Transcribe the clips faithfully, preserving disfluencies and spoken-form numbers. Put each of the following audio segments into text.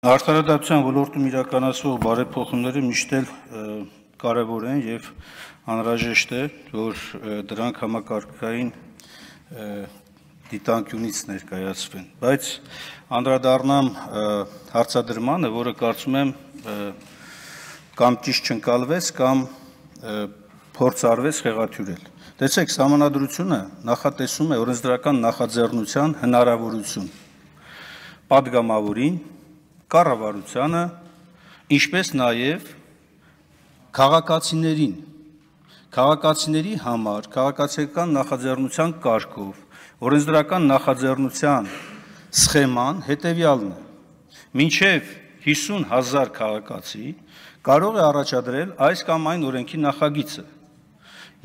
Արդարադատության ոլորտում իրականացվող բարեփոխումները միշտ էլ կարևոր են եւ անհրաժեշտ է, որ դրանք համակարգային դիտանկյունից ներկայացվեն, բայց անդրադառնամ հարցադրմանը, որը կարծում եմ կամ ճիշտ չընկալվեց, կամ փորձ արվեց խեղաթյուրել։ Տեսեք, Սահմանադրությունը նախատեսում է օրենսդրական նախաձեռնության հնարավորություն պատգամավորին, կառավարությանը, ինչպես նաև քաղաքացիներին, քաղաքացիների համար քաղաքացիական նախաձեռնության կարգով օրենսդրական նախաձեռնության սխեման հետևյալն է. մինչև հիսուն հազար քաղաքացի կարող է առաջադրել այս կամ այն օրենքի նախագիծը,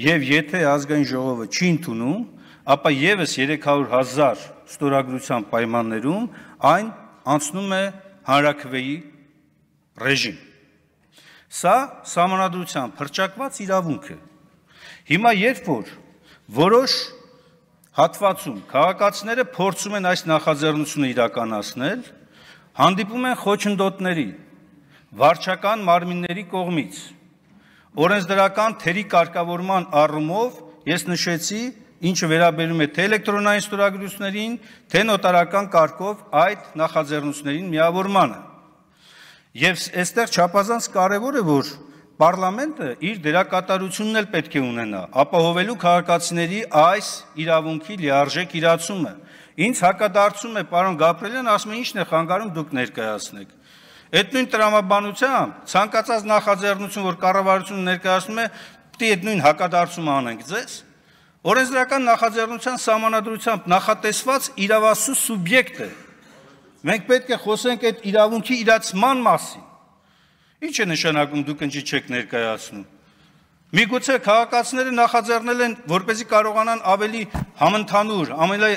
եւ եթե ազգային ժողովը չի ընդունում, ապա եւս երեք հարյուր հազար ստորագրության պայմաններում այն անցնում է հանրաքվեի ռեժիմ։ Սա Սահմանադրությամբ հռչակված իրավունք է։ Հիմա երբ որ որոշ հատվածում քաղաքացիները փորձում են այս նախաձեռնությունը իրականացնել, հանդիպում են խոչընդոտների, վարչական մարմինների կողմից, օրենսդրական թերի կարգավորման առումով ես նշեցի, ինչը վերաբերում է թե էլեկտրոնային ստորագրություններին, թե նոտարական կարգով այդ նախաձեռնություններին միավորմանը։ Եվ այստեղ չափազանց կարևոր է, որ պարլամենտը իր դերակատարությունն էլ պետք է ունենա, ապահովելու քաղաքացիների այս իրավունքի լիարժեք իրացումը։ Ինձ հակադարձում է պարոն Գաբրելյան, ասում է ինչն է խանգարում դուք ներկայացնեք։ Այդ նույն տրամաբանությամբ ցանկացած նախաձեռնություն, որ կառավարությունը ներկայացնում է, պետք է այդ նույն հակադարձումը անենք ձեզ։ Օրենսդրական նախաձեռնության Սահմանադրությամբ նախատեսված իրավասու սուբյեկտ է։ Մենք պետք է խոսենք այդ իրավունքի իրացման մասին։ Ինչ է նշանակում դուք ինչի չեք ներկայացնում։ Միգուցե քաղաքացիները նախաձեռնել են, որպեսզի կարողանան ավելի համընդհանուր, ավելի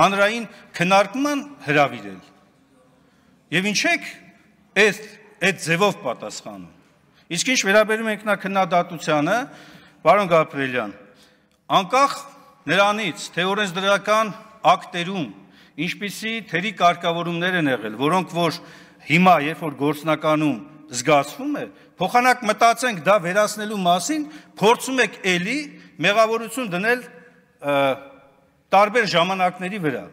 հանրային քննարկման հրավիրել։ Եվ ինչ եք այդ այդ ձևով պատասխանում։ Իսկ ինչ վերաբերում է ինքնաքննադատությանը, պարոն Գաբրելյան, անկախ նրանից, թե օրենսդրական ակտերում ինչպիսի թերի կարգավորումներ են եղել, որոնք որ հիմա, երբ որ գործնականում զգացվում է, փոխանակ մտածենք դա վերացնելու մասին, փորձում եք էլի մեղավորություն դնել տարբեր ժամանակների վրա։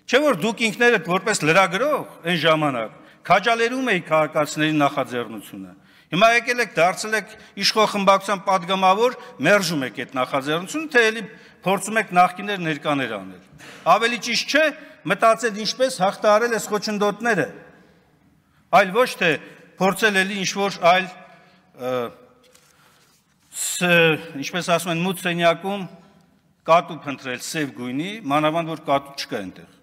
Չէ՞ որ դուք ինքներդ որպես լրագրող այն ժամանակ քաջալերում էիք քաղաքացիների նախաձեռնությունը։ Հիմա եկել եք դարձել եք իշխող խմբակցության падգամավոր, մերժում եք այդ նախաձեռնությունը, թե էլի փորձում եք նախկիներ ներկաներ անել։ Ավելի ճիշտ չէ մտածել ինչպես հաղթահարել այս խոչընդոտները, այլ ոչ թե փորձել էլի ինչ-որ այլ, ինչպես ասում են, մութ սենյակում կատու փնտրել սև գույնի, մանավանդ որ կատու չկա այնտեղ։